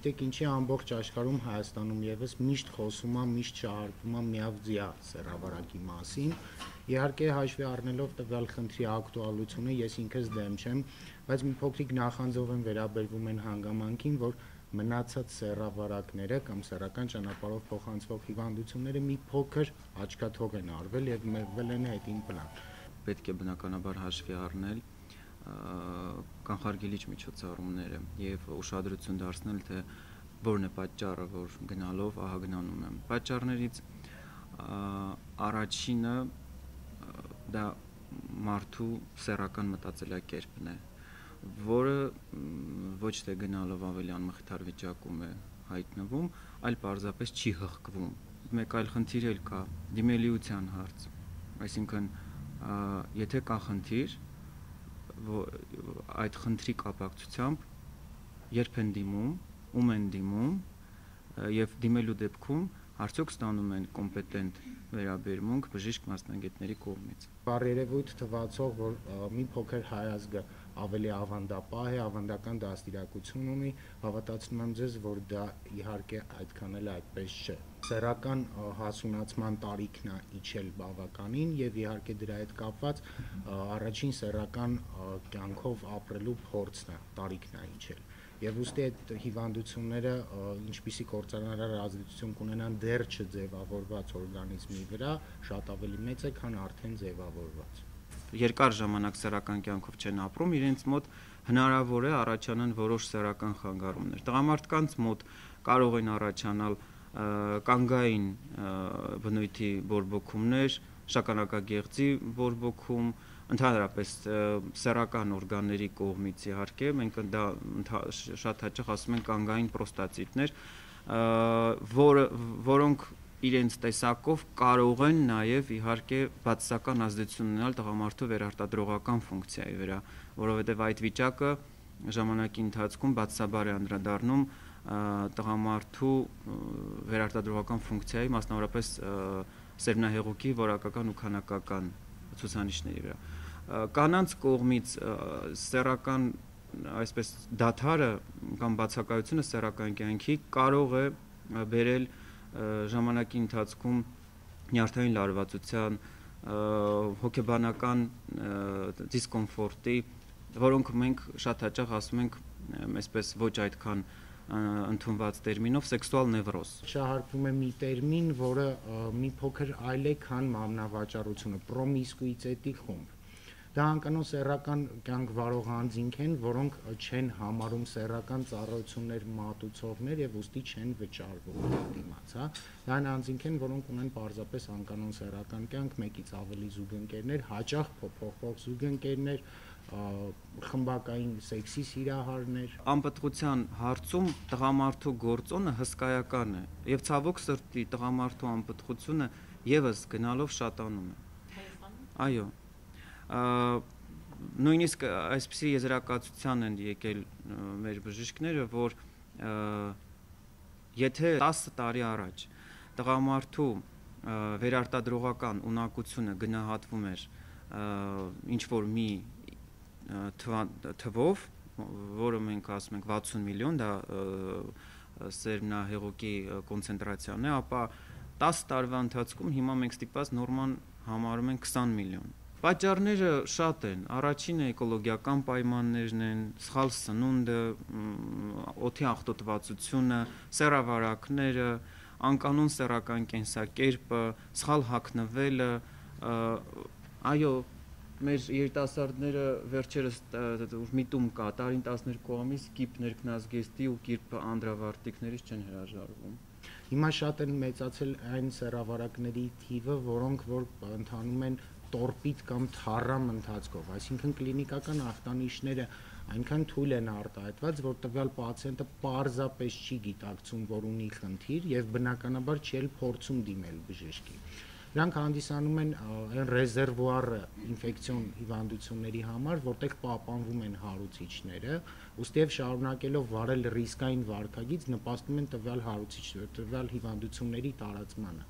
գիտեք ինչի ամբողջ աշխարհում Հայաստանում եւս միշտ խոսում է, միշտ շահարկվում է միավձյա սեռավարակի մասին։ Իհարկե հաշվի առնելով տվյալ խնդրի ակտուալությունը ես ինքս դեմ չեմ, բայց մի փոքրիկ նախանձով եմ վերաբերվում այն հանգամանքին, որ մնացած սեռավարակները կամ սեռական ճանապարհով փոխանցվող հիվանդությունները մի փոքր աչքաթող են արվել եւ մեղվել են հետին պլան։ Պետք է բնականաբար հաշվի առնել կանխարգելիչ միջոցառումները եւ ուշադրություն դարձնել, թե որն է պատճառը, որ գնալով ահագնանում է։ Պատճառներից առաջինը դա մարդու սեռական մտածելակերպն է, որը ոչ թե գնալով ավելի անմխիթար վիճակում է հայտնվում, այլ պարզապես չի հղկվում։ Մեկ այլ խնդիր էլ կա՝ դիմելիության հարց։ Այսինքն, եթե կա խնդիր, այդ խնդրի կապակցությամբ երբ են դիմում, ում են դիմում եւ դիմելու դեպքում արդյոք ստանում են կոմպետենտ վերաբերմունք բժիշկ մասնագետների կողմից։ Բարերևույթ թվացող, որ մի փոքր հայազգը ավելի ավանդապահ է, ավանդական դաստիարակություն ունի, հավատացնում եմ ձեզ, որ դա իհարկե այդքան էլ այդպես չէ։ Սեռական հասունացման տարիքն է իջել բավականին եւ իհարկե դրա հետ կապված առաջին սեռական կյանքով ապրելու փորձն է, տարիքն է իջել։ Եվ ուստի այդ հիվանդությունները ինչպիսի կործանարար ազդեցություն կունենան դեռ չձևավորված օրգանիզմի վրա, շատ ավելի մեծ է, քան արդեն ձևավորված։ Երկար ժամանակ սեռական կյանքով չեն ապրում, իրենց մոտ հնարավոր է առաջանան որոշ սեռական խանգարումներ։ Տղամարդկանց մոտ կարող են առաջանալ կանգային բնույթի բորբոքումներ, շագանակագեղձի բորբոքում, ընդհանրապես սեռական օրգանների կողմից իհարկե, մենք դա շատ հաճախ ասում ենք կանգային պրոստատիտներ, որոնք իրենց տեսակով կարող են նաև իհարկե բացասական ազդեցություն ունենալ տղամարդու վերարտադրողական ֆունկցիայի վրա, որովհետև այդ վիճակը ժամանակի ընթացքում բացասաբար է անդրադառնում տղամարդու վերարտադրողական ֆունկցիայի, մասնավորապես սերմնահեղուկի որակական ու քանակական ցուցանիշների վրա։ Կանանց կողմից սեռական այսպես դադարը կամ բացակայությունը սեռական կյանքի կարող է բերել ժամանակի ընթացքում նյարդային լարվածության, հոգեբանական դիսկոմֆորտի, որոնք մենք շատ հաճախ ասում ենք այսպես ոչ այդքան ընդունված տերմինով սեքսուալ նևրոզ։ Շահարկվում է մի տերմին, որը մի փոքր այլ է, քան մամնավաճառությունը, պրոմիսկուիտետի խումբ։ Դա անկանոն սեռական կյանք վարող անձինք են, որոնք չեն համարում սեռական ծառայություններ մատուցողներ եւ ուստի չեն վճարվում դիմաց, հա։ Դա անձինք են, որոնք ունեն պարզապես անկանոն սեռական կյանք, մեկից ավելի զուգընկերներ, հաճախ փոփոխվող զուգընկերներ, խմբակային սեքսի սիրահարներ։ Անպտղության հարցում տղամարդու գործոնը հսկայական է եւ ցավոք սրտի տղամարդու անպտղությունը եւս գնալով շատանում է։ Այո։ Նույնիսկ այսպիսի եզրակացության են եկել մեր բժիշկները, որ եթե 10 տարի առաջ տղամարդու վերարտադրողական ունակությունը գնահատվում էր ինչ որ մի թվով, որը մենք ասում ենք 60 միլիոն, դա սերմնահեղուկի կոնցենտրացիան է, ապա 10 տարվա ընթացքում հիմա մենք ստիպված նորման համարում ենք 20 միլիոն։ Պատճառները շատ են, առաջինը էկոլոգիական պայմաններն են, սխալ սնունդը, օդի աղտոտվածությունը, սեռավարակները, անկանոն սեռական կենսակերպը, սխալ հագնվելը, այո, մեր երիտասարդները վերջերս միտում կա, տարին 12 ամիս կիպ ներքնազգեստի ու կիպ անդրավարտիկներից չեն հրաժարվում։ Հիմա շատ են մեծացել այն սեռավարակների թիվը, որոնք որ ընթանում են տորպիդ կամ թառամ ընթացքով, այսինքն կլինիկական ախտանիշները այնքան թույլ են արտահայտված, որ տվյալ պացիենտը պարզապես չի գիտակցում, որ ունի խնդիր եւ բնականաբար չի էլ փորձում դիմել բժշկի։ Նրանք հանդիսանում են այն ռեզերվուարը ինֆեկցիոն հիվանդությունների համար, որտեղ պահպանվում են հարուցիչները, ուստի եւ շարունակելով վարել ռիսկային վարքագիծ նպաստում են տվյալ հիվանդությունների տարածմանը։